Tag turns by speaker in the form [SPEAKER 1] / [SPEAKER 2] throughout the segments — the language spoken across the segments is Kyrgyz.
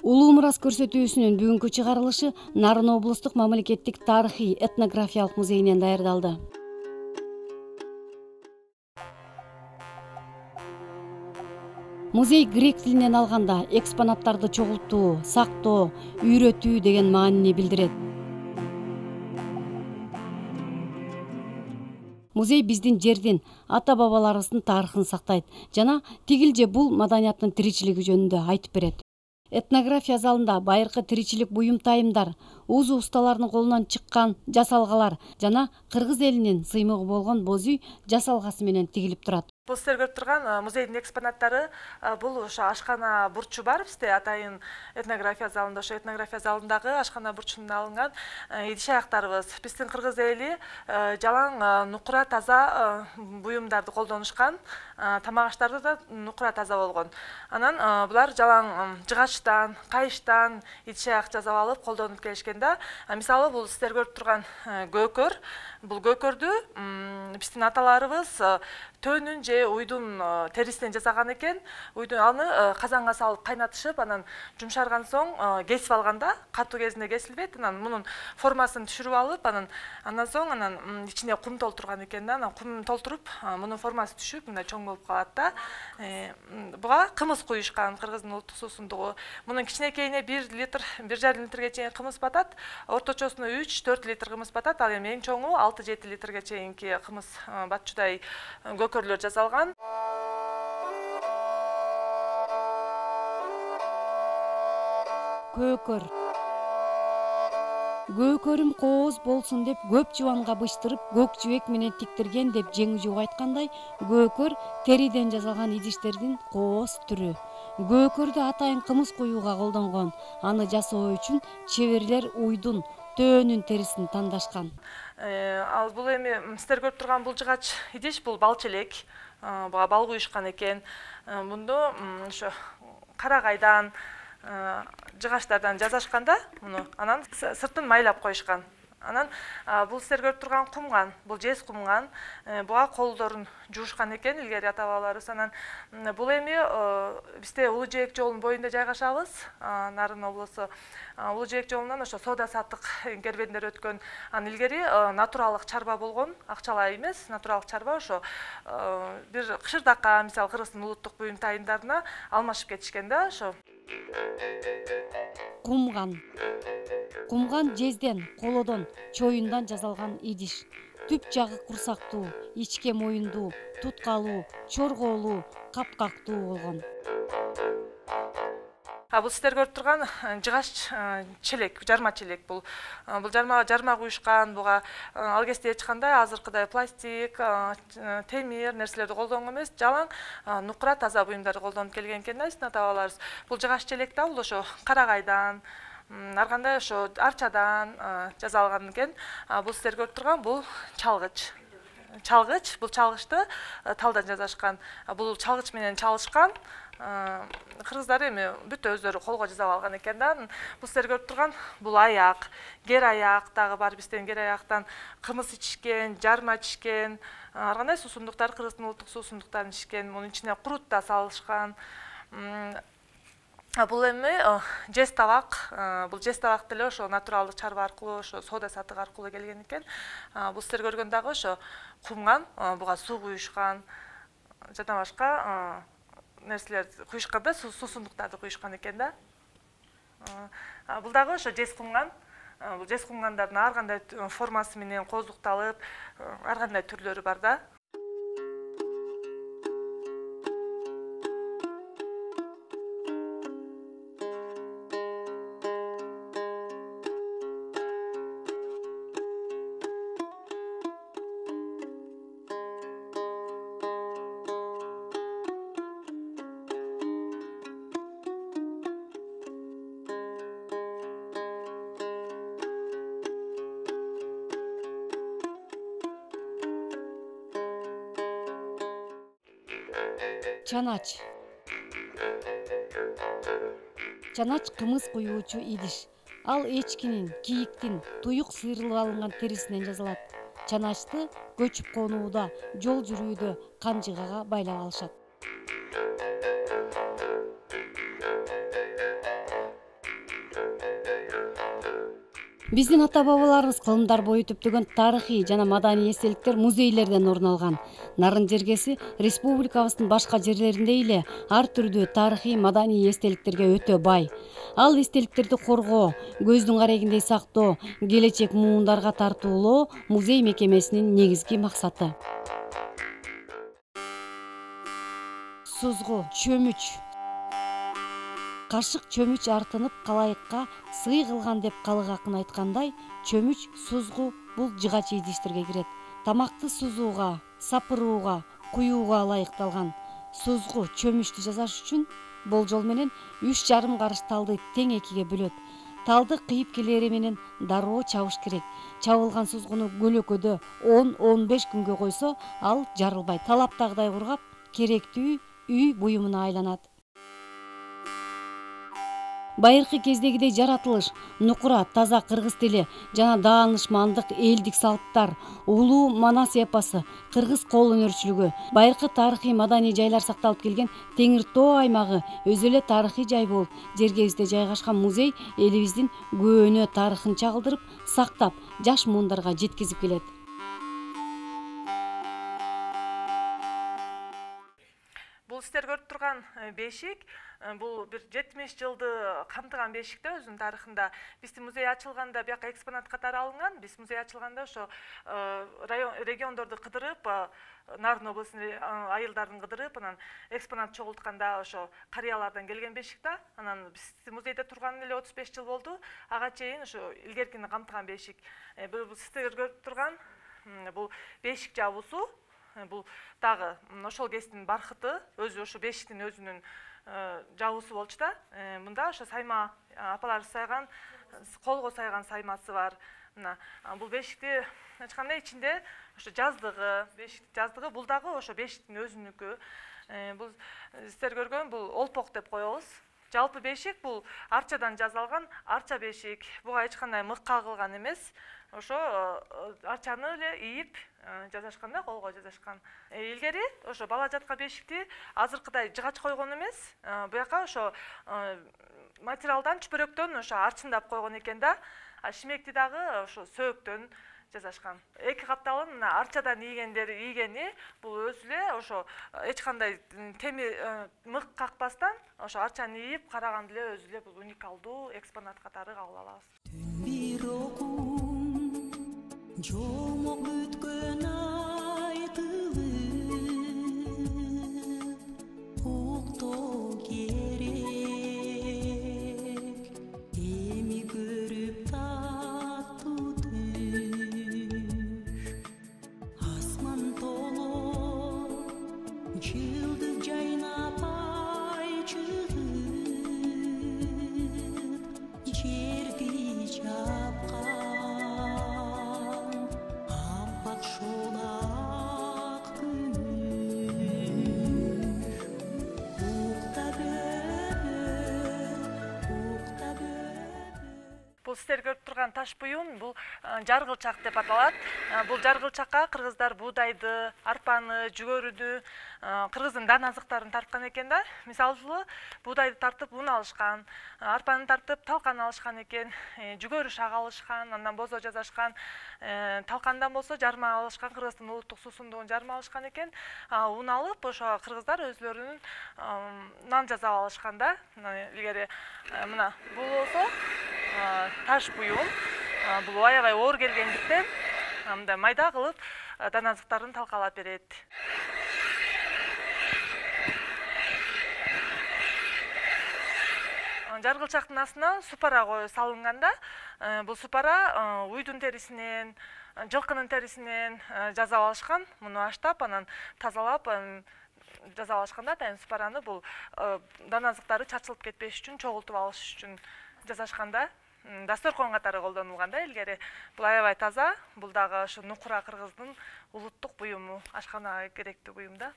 [SPEAKER 1] Улуу мурас көрсөтүүсүнүн бүгүнкү чыгарылышы Нарын облустук мамлекеттик тарыхый этнографиялык музейинен даярдалды. Музей грек тилинен алганда экспонаттарды чогултуу, сактоо, үйрөтүү деген маанини билдирет. Музей биздин жердин, ата-бабаларыбыздын тарыхын сактайт жана тигил же бул маданияттын тиричилиги жөнүндө айтып берет. Этнография залында байыркы тиричилик буюмтайымдар, уузу усталарынын колунан чыккан жасалгалар жана кыргыз элинин сыймыгы болгон боз үй жасалгасы менен тигилип турат.
[SPEAKER 2] Бул сиздер көрүп турган музейдин экспонаттары бул ошо ашкана бурчу бар бизде атайын этнография залында. Ошо этнография залындагы ашкана бурчунан алынган идиш аяктарыбыз. Биздин кыргыз эли жалаң нукура таза буюмдарды колдонушкан, тамак аштарды да нукура таза болгон. Анан булар жалаң жыгачтан, кайыштан идиш аяк жасап алып колдонуп келишкен да. Мисалы бул сиздер көрүп турган көкөр. Бул көкөрдү биздин аталарыбыз төөнүн же уйдун терисинен жасаган экен. Уйдун аны казанга салып кайнатышып, анан жумшарган соң кесип алганда, катуу кезинде кесилбейт. Анан мунун формасын түшүрүп алып, андан соң ичине кум толтурган экен да. Анан кум толтуруп, мунун формасы түшүп, мындай чоң болуп калат да. Буга кымыз куюшкан, кыргыздын улуттук суусундугу. Мунун кичинекейине 1 литр, 1,5 литрге чейин кымыз батат. Орточосуна 3-4 литр кымыз батат. Ал эми эң чоңу 6-7 литрге чейинки кымыз батчудай көкөрлөр жасалган.
[SPEAKER 1] Көкөр. Көкөрүм кооз болсун деп көп жубанга быштырып, көк жибек менен тиктирген деп жеңи жууга айткандай, көкөр териден жасалган идиштердин кооз түрү. Көкөрдү атайын кымыз куюуга колдонгон. Аны жасоо үчүн чеберлер уйдун, төөнүн терисин тандашкан.
[SPEAKER 2] Ал бул эми сиздер көрүп турган бул жыгач идиш, бул бал челек. Буга бал куюшкан экен. Мунду ошо карагайдан, жыгачтардан жасашканда, муну анан сыртын майлап коюшкан. Анан бул сиздер көрүп турган кумган, бул жез кумган. Буга колдорун жуушкан экен илгери ата-бабаларыбыз. Анан бул эми бизде Улуу Жээк жолунун боюнда жайгашабыз, Нарын облусу. Улуу Жээк жолунан ошо соода саттык кербендер өткөн. Анан илгери натуралдык чарба болгон, акчалай эмес, натуралдык чарба ошо бир кышырдакка, мисалы Кыргыздын улуттук буюмтайымдарына алмашып кетишкен да ошо.
[SPEAKER 1] Кумган. Кумган жезден, колодон, чоюндан жасалган идиш. Түп жагы курсактуу, ичке моюндуу, туткалуу, чорголуу, капкактуу болгон.
[SPEAKER 2] Бул сиздер көрүп турган жыгач челек, жарма челек. Бул жарма куюшкан, буга ал кезде эч кандай азыркыдай пластик, темир нерселерди колдонгон эмес, жалаң нукура таза буюмдарды колдонуп келген экен да биздин ата-бабаларыбыз. Бул жыгач челек да бул ошо карагайдан, ар кандай ошо арчадан жасалган экен. Бул сиздер көрүп турган бул чалгыч. Бул чалгычты талдан жасашкан. Бул чалгыч менен чалышкан. Кыргыздар эми бүт өздөрү колго жасап алган экен да. Бул сиздер көрүп турган бул аяк, кер аяк дагы бар бизден. Кер аяктан кымыз ичишкен, жарма ичишкен, ар кандай суусундуктар, Кыргыздын улуттук суусундуктарын ичишкен. Мунун ичине курут да салышкан. Бул эми жез табак. Бул жез табак деле ошо натуралдык чарба аркылуу, ошо соода саттык аркылуу келген экен. Бул сиздер көргөн дагы ошо кумган, буга суу куюшкан, жана башка нерселерди куюшкан да, суусундуктарды куюшкан экен да. Бул дагы ошо жез кумган. Бул жез кумгандардын ар кандай формасы менен кооздукталып, ар кандай түрлөрү бар да.
[SPEAKER 1] Чанач. Чанач кымыз куюучу идиш. Ал эчкинин, кийиктин, туюк сыйрылып алынган терисинен жасалат. чаначты көчүп конууда, жол жүрүүдө канжыгага байлап алышат. Биздин ата-бабаларыбыз кылымдар бою түптөгөн тарыхый жана маданий эстеликтер музейлерден орун алган. Нарын жергеси республикабыздын башка жерлериндей эле ар түрдүү тарыхый маданий эстеликтерге өтө бай. Ал эстеликтерди коргоо, көздүн карегиндей сактоо, келечек муундарга тартуулоо музей мекемесинин негизги максаты. Сузгу, чөмүч. Кашык чөмүч артынып калайыкка сый кылган деп калык акын айткандай, чөмүч, сузгу бул жыгач идиштерге кирет. Тамакты сузууга, сапырууга, куюуга ылайыкталган. Сузгу чөмүчтү жасаш үчүн болжол менен 3,5 карыш талды тең экиге бөлөт. Талды кыйыпкелери менен дароо чабыш керек. Чабылган сузгуну көлөкөдө 10-15 күнгө койсо, ал жарылбайт. Талаптагыдай кургап, керектүү үй буюмуна айланат. Байыркы кездегидей жаратылыш, нукура, таза кыргыз тили жана даанышмандык элдик салттар, улуу Манас эпосу, кыргыз кол өнөрчүлүгү, байыркы тарыхый маданий жайлар сакталып келген Теңир Тоо аймагы өзү эле тарыхый жай болуп, жергебизде жайгашкан музей элибиздин көөнө тарыхын чагылдырып, сактап, жаш муундарга жеткизип келет.
[SPEAKER 2] Бул сиздер көрүп турган бешик, бул бир 70 жылды камтыган бешикте өзүнүн тарыхында. Биздин музей ачылганда бияка экспонат катары алынган. Биз музей ачылганда ошо региондорду кыдырып, Нарын областынын айылдарын кыдырып, анан экспонат чогултканда ошо карыялардан келген бешик да. Анан биздин музейде турган эле 35 жыл болду. Ага чейин ошо илгеркини камтыган бешик. Бул сиздер көрүп турган бул бешик жабуусу. Бул дагы ошол кездин бархыты, өзү ошо бешиктин өзүнүн жабуусу болчу да. Мында ошо сайма апалар сайган, колго сайган саймасы бар. Мына бул бешикти ачканда ичинде ошо жаздыгы, бешиктин жаздыгы, бул дагы ошо бешиктин өзүнүкү. Бул сиздер көргөн бул олпок деп коебуз. Жалпы бешик бул арчадан жасалган арча бешик. Буга эч кандай мык кагылган эмес. Ошо арчаны эле ийип жасашканда, колго жасашкан. Илгери ошо бала жатка бешикти азыркыдай жыгач койгон эмес. Буяка ошо материалдан, чүпөрөктөн ошо арчындап койгон экен да. Шимекти дагы ошо сөөктөн жасашкан. Эки капталын мына арчадан ийгени бул өзү эле ошо эч кандай темир мык какпастан ошо арчаны ийип караганда эле өзү эле бул уникалдуу экспонат катары кабыл алабыз. Жомок бүткөн айтылып уктоо керек, эми көрүп таттуу түш, асман толо жылдыз жайнап ай чыгып, жерди жапкан Бул сиздер көрүп турган таш буюм, бул жаргылчак деп аталат. Бул жаргылчакка кыргыздар буудайды, арпаны, жүгөрүдү, кыргыздын дан азыктарын тарткан экен да. Мисалы, буудайды тартып ун алышкан, арпаны тартып талкан алышкан экен, жүгөрү шак алышкан, андан бозо жасашкан, талкандан болсо жарма алышкан, кыргыздын улуттук суусундугун жарма алышкан экен. Ун алып, ошо кыргыздар өзлөрүнүн нан жасап алышкан да. Илгери мына бул болсо таш буюм, бул аябай оор келгендиктен мындай майда кылып дан азыктарын талкалап берет. Жаргылчактын астына супара салынганда, бул супара уйдун терисинен, жылкынын терисинен жасап алышкан. Муну аштап, анан тазалап жасап алышканда атайын супараны бул дан азыктары чачылып кетпеш үчүн, чогултуп алыш үчүн жасашканда. Дасторкон катары колдонулган да илгери. Бул аябай таза, бул дагы ошо нукура кыргыздын улуттук буюму, ашканага керектүү буюм да.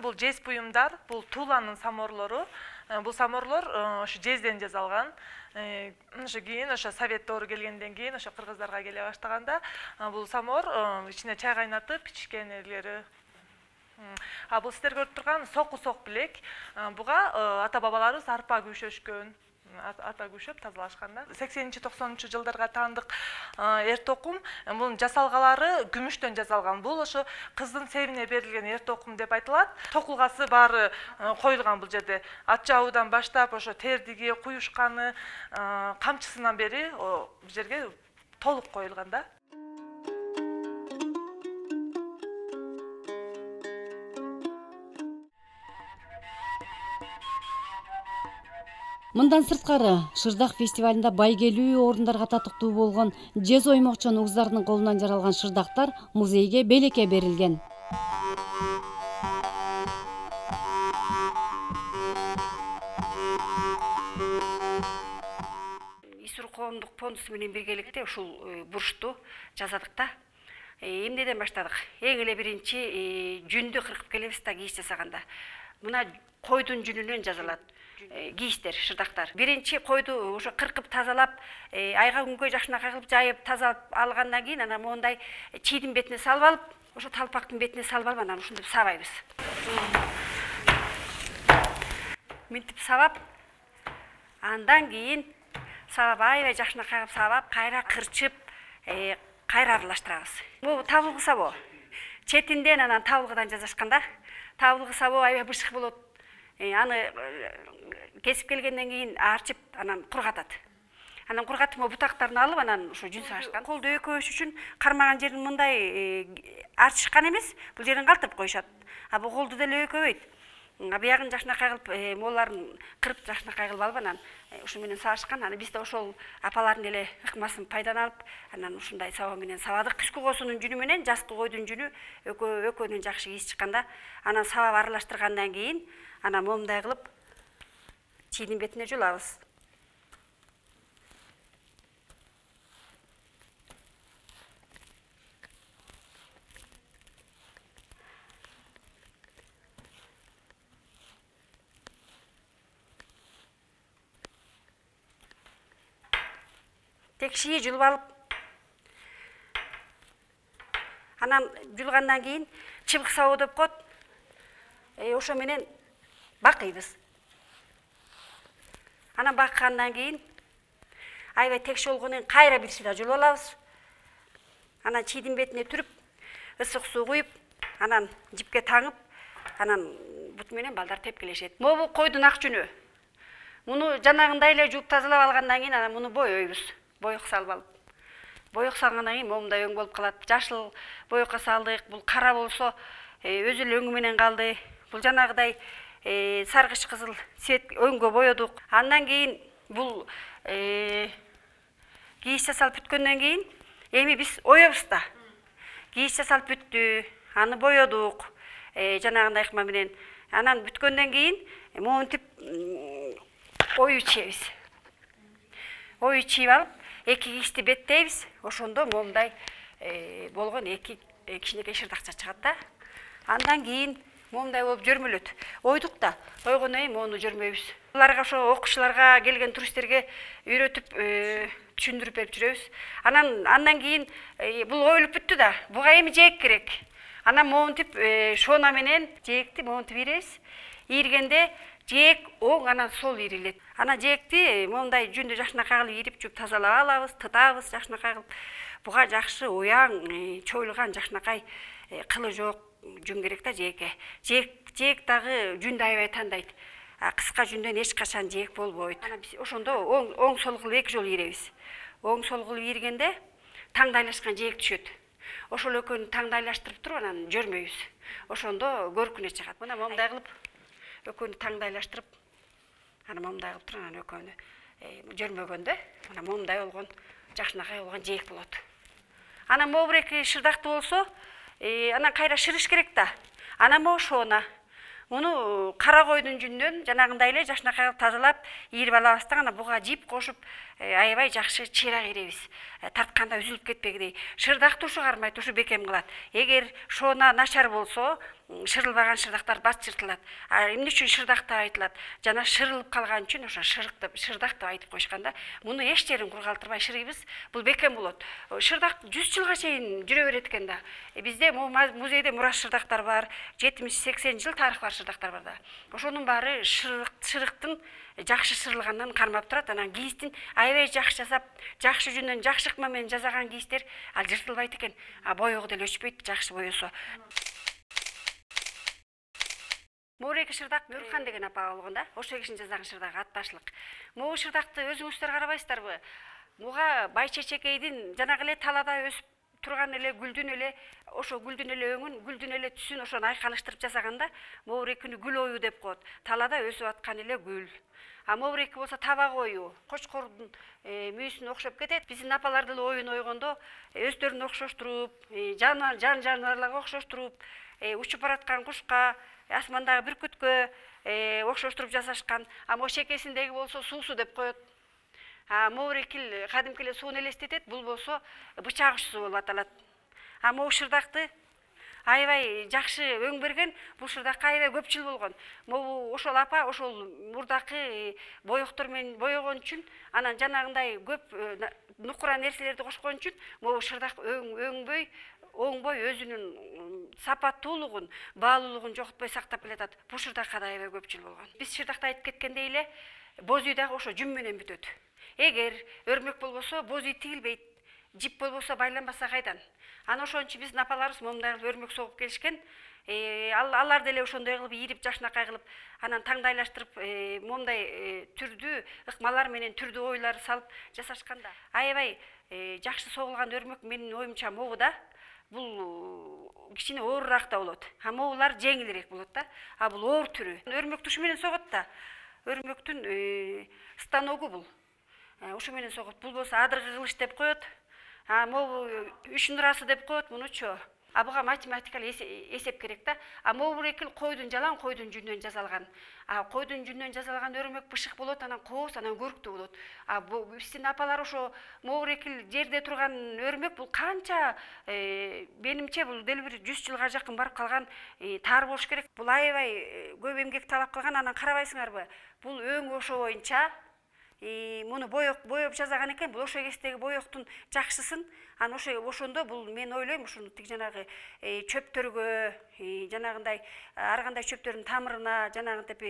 [SPEAKER 2] анан бул жез буюмдар, бул Туланын саморлору. Бул саморлор ошо жезден жасалган. Ошо кийин ошо совет доору келгенден кийин ошо кыргыздарга келе баштаганда бул самор ичине чай кайнатып ичкен элери. Бул сиздер көрүп турган соку-сок билек. Буга ата бабаларыбыз арпа күйшөшкөн. Ата күйшөп тазалашкан да. 80-90 жылдарга таандык эр токум, мунун жасалгалары күмүштөн жасалган. Бул ошо кыздын себине берилген эр токум деп айтылат. Токулгасы баары коюлган бул жерде. Ат жабуудан баштап ошо тердиги, куюшканы, камчысынан бери бул жерге толук коюлган да.
[SPEAKER 1] Мындан сырткары Шырдак фестивалында байгелүү орундарга татыктуу болгон жез оймокчон угуздардын колунан жаралган шырдактар музейге белекке берилген.
[SPEAKER 3] Исур коомдук фондусу менен биргеликте ушул бурчту жасадык да. Эмнеден баштадык? Эң эле биринчи жүндү кыркып келебиз да кийиз жасаганда. Мына койдун жүнүнөн жасалат. Кийиздер, шырдактар. Биринчи койду ошо кыркып тазалап, айга күнгө жакшынакай кылып жайып тазалап алгандан кийин анан мондай чийдин бетине салып алып, ошо талпактын бетине салып алып анан ушинтип сабайбыз. Мынтип сабап, андан кийин сабап аябай жакшынакай кылып сабап, кайра кырчып, кайра аралаштырабыз. Бул табылгы сабоо. Четинден анан табылгыдан жасашкан да. Табылгы сабоо аябай бышык болот. Аны кесип келгенден кийин арчып, анан кургатат. Анан кургатып, бутактарын алып, анан ушу жүн сашкан. Колду өкөбүш үчүн кармаган жерин мындай арчышкан эмес, бул жерин калтырып коюшат. Бул колду деле өкөбөйт. Биягын жакшынакай кылып, моларын кырып жакшынакай кылып алып, анан ушу менен сабышкан. Анан биз да ошол апалардын эле ыкмасын пайдаланып, анан ушундай сабоо менен сабадык. Кышкы коосунун жүнү менен жазкы койдун жүнү экөөнүн жакшы кийиз чыкканда, анан сабап аралаштыргандан кийин, анан момундай кылып чийдин бетине жулабыз. Текшии жулуп алып, анан жулгандан кийин чыбык сабоо деп коет. Ошо менен бакыйбыз. Анан баккандан кийин аябай текши болгондон кийин кайра бир сыйра жулуп алабыз. Анан чийдин бетине түрүп, ысык суу куюп, анан жипке таңып, анан бут менен балдар тепкилешет. Могу койдун ак жүнү. Муну жанагындай эле жууп тазалап алгандан кийин анан муну боёйбуз. Боёк салып алып. Боёк салгандан кийин момундай өң болуп калат. Жашыл боёкко салдык, бул кара болсо өзү эле өңү менен калды. Бул жанагыдай саргыч кызыл цвет өңгө боёдук. Андан кийин бул кийиз жасалып бүткөндөн кийин эми биз оёбуз да. Кийиз жасалып бүттү, аны боёдук. Жанагындай ыкма менен. Анан бүткөндөн кийин монтип ою чийебиз. Ою чийип алып, эки кийизди беттейбиз. Ошондо момундай болгон эки кичинекей шырдакча чыгат да. Андан кийин момундай болуп жөрмөлөт. Ойдук да, ойгондон кийин моуну жөрмөйбүз. Буларга ошо окуучуларга келген туристтерге үйрөтүп түшүндүрүп берип жүрөбүз. Андан кийин бул оюлуп бүттү да. Буга эми жээк керек. Анан монтип шона менен жээкти монтип ийребиз. Ийргенде жээк оң анан сол ийрилет. Анан жээкти момундай жүндү жакшынакай кылып ийрип жууп тазалап алабыз, тытабыз жакшынакай кылып. Буга жакшы уяң, чоюлган жакшынакай кылы жок жүн керек да жээкке. Жээк дагы жүндү аябай тандайт. Кыска жүндөн эч качан жээк болбойт. Анан биз ошондо оң сол кылып эки жолу ийребиз. Оң сол кылып ийргенде таңдайлашкан жээк түшөт. Ошол экөөнү таңдайлаштырып туруп анан жөрмөйбүз. Ошондо көркүнө чыгат. Мына момундай кылып экөөнү таңдайлаштырып, анан момундай кылып туруп анан экөөнү жөрмөгөндө, мына момундай болгон жакшынакай болгон жээк болот. Анан могу бир эки шырдакты болсо, анан кайра шырыш керек да. Анан могу шона. Муну кара койдун жүнүнөн жанагындай эле жакшынакай кылып тазалап, ийрип алабыз да, анан буга жип кошуп, аябай жакшы чыйрак ийребиз. Тартканда үзүлүп кетпегидей. Шырдакты ушу кармайт, ушу бекем кылат. Эгер шона начар болсо, шырылбаган шырдактар бат чыртылат. Эмне үчүн шырдак деп айтылат? Жана шырылып калган үчүн ошо шырдак деп айтып коюшкан да. Муну эч жерин кургалтырбай шырыйбыз. Бул бекем болот. Шырдак 100 жылга чейин жүрө берет экен да. Бизде музейде мурас шырдактар бар, 70-80 жыл тарыхы бар шырдактар бар да. Ошонун баары шырыктын жакшы шырылгандан кармап турат. Анан кийиздин аябай жакшы жасап, жакшы жүнөн, жакшы ыкма менен жасаган кийиздер ал жыртылбайт экен. Боёго деле өчпөйт, жакшы боесо. Моуреки шырдак Нурхан деген апа болгон да. Ошо кишинин жасаган шырдагы атташлык. Могу шырдакты өзүңүздөр карабайсыздарбы? Муга Байчечекейдин жанагы эле талада өсүп турган эле гүлдүн эле ошо гүлдүн эле өңүн, гүлдүн эле түсүн ошону айкалыштырып жасаганда моурекини гүл ою деп коет. Талада өсүп аткан эле гүл. Моуреки болсо табак ою, кочкордун мүйүсүнө окшоп кетет. Биздин апалар деле оюн ойгондо өздөрүн окшоштуруп, жаныбарларга окшоштуруп, учуп бараткан кушка, асмандагы бүркүткө окшоштуруп жасашкан. Могу шекесиндеги болсо суусу деп коет. Моурекил кадимки эле сууну элестетет, бул болсо бычак учсу болуп аталат. Могу шырдакты аябай жакшы өң берген, бул шырдакка аябай көп жыл болгон. Могу ошол апа ошол мурдакы боектор менен боегон үчүн, анан жанагындай көп нукура нерселерди кошкон үчүн могу шырдак өңбөй, оңбой өзүнүн сапаттуулугун, баалуулугун жоготпой сактап келатат. Бул шырдакка да аябай көп жыл болгон. Биз шырдакта айтып кеткендей эле, боз үй дагы ошо жүн менен бүтөт. Эгер өрмөк болбосо боз үй тигилбейт, жип болбосо байланбаса кайдан? Ана ошон үчүн биздин апаларыбыз момундай кылып өрмөк согуп келишкен. Алар деле ошондой кылып ийирип, жакшынакай кылып, анан таңдайлаштырып, момундай түрдүү ыкмалар менен түрдүү ойлор салып жасашкан да. Аябай жакшы согулган өрмөк менин оюмча могу да. Бул кичине оорураак да болот. Могулар жеңилирээк болот да. Бул оор түрү. Өрмөк тушу менен согот да. Өрмөктүн станогу бул. Ошо менен согот. Бул болсо адыргы кылыч деп коет. Могу үч нурасы деп коет мунучу. Буга математикалык эсеп керек да. Моурекил койдун жалаң койдун жүнүнөн жасалган. Койдун жүнүнөн жасалган өрмөк бышык болот, анан кооз, анан көрктүү болот. Биздин апалар ошо моурекил жерде турган өрмөк бул канча, менимче бул дел бир 100 жылга жакын барып калган таар болуш керек. Бул аябай көп эмгек талап кылган, анан карабайсыңарбы? Бул өң ошо боюнча муну боеп жасаган экен. Бул ошо кездеги боектун жакшысын. Анан ошондо бул мен ойлойм, ушуну тиг жанагы чөптөргө, жанагындай ар кандай чөптөрдүн тамырына, жанагынтип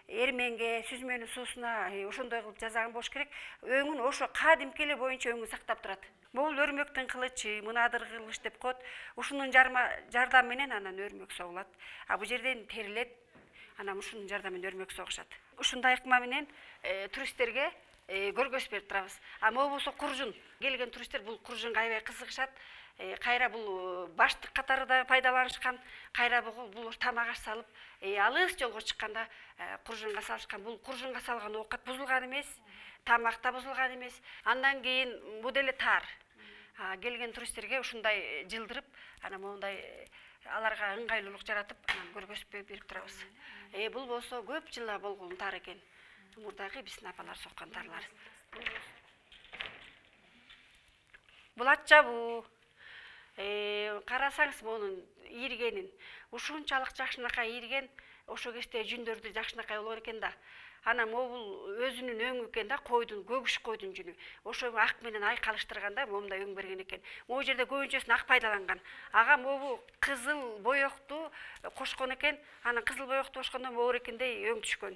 [SPEAKER 3] эрменге, сүзмөнүн суусуна ошондой кылып жасаган болуш керек. Өңүн ошо кадимки эле боюнча өңүн сактап турат. Бул өрмөктүн кылычы, муну адыргы кылыч деп коет. Ушунун жардамы менен анан өрмөк согулат. Бул жерден терилет. Анан ушунун жардамы менен өрмөк согушат. Ушундай ыкма менен туристтерге көргөзүп берип турабыз. Могу болсо куржун. Келген туристтер бул куржунга аябай кызыгышат. Кайра бул баштык катары да пайдаланышкан. Кайра бул тамак аш салып, алыс жолго чыкканда куржунга салышкан. Бул куржунга салган оокат бузулган эмес, тамак да бузулган эмес. Андан кийин бул деле таар. Келген туристтерге ушундай жылдырып, анан моундай аларга ыңгайлуулук жаратып, анан көргөзүп берип турабыз. Бул болсо көп жылга болгон таар экен. Мурдагы биздин апалар соккан таарлар. Бул ат жабуу. Карасаңыз монун ийиргенин, ушунчалык жакшынакай ийирген, ошо кезде жүндөрдү жакшынакай болгон экен да. Анан могул өзүнүн өңү экен да, койдун, көгүш койдун жүнү. Ошо ак менен айкалыштырганда момундай өң берген экен. Могу жерде көбүнчөсүн ак пайдаланган. Ага могу кызыл боекту кошкон экен. Анан кызыл боекту кошкондо моурекиндей өң түшкөн.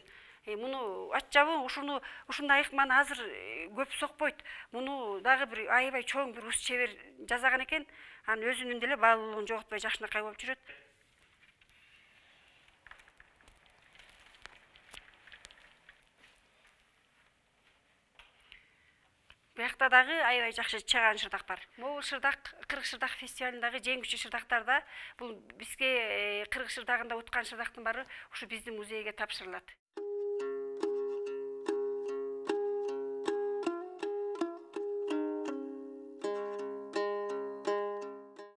[SPEAKER 3] Муну ат жабуу ушундай ыкманы азыр көп сокпойт. Муну дагы бир аябай чоң бир ус чебер жасаган экен. Анан өзүнүн деле баалуулугун жоготпой жакшынакай болуп жүрөт. Буякта дагы аябай жакшы чыган шырдак бар. Могул шырдак Кыргыз шырдак фестивалындагы жеңүүчү шырдактарда бул бизге Кыргыз шырдагында уткан шырдактын баары ушу биздин музейге тапшырылат.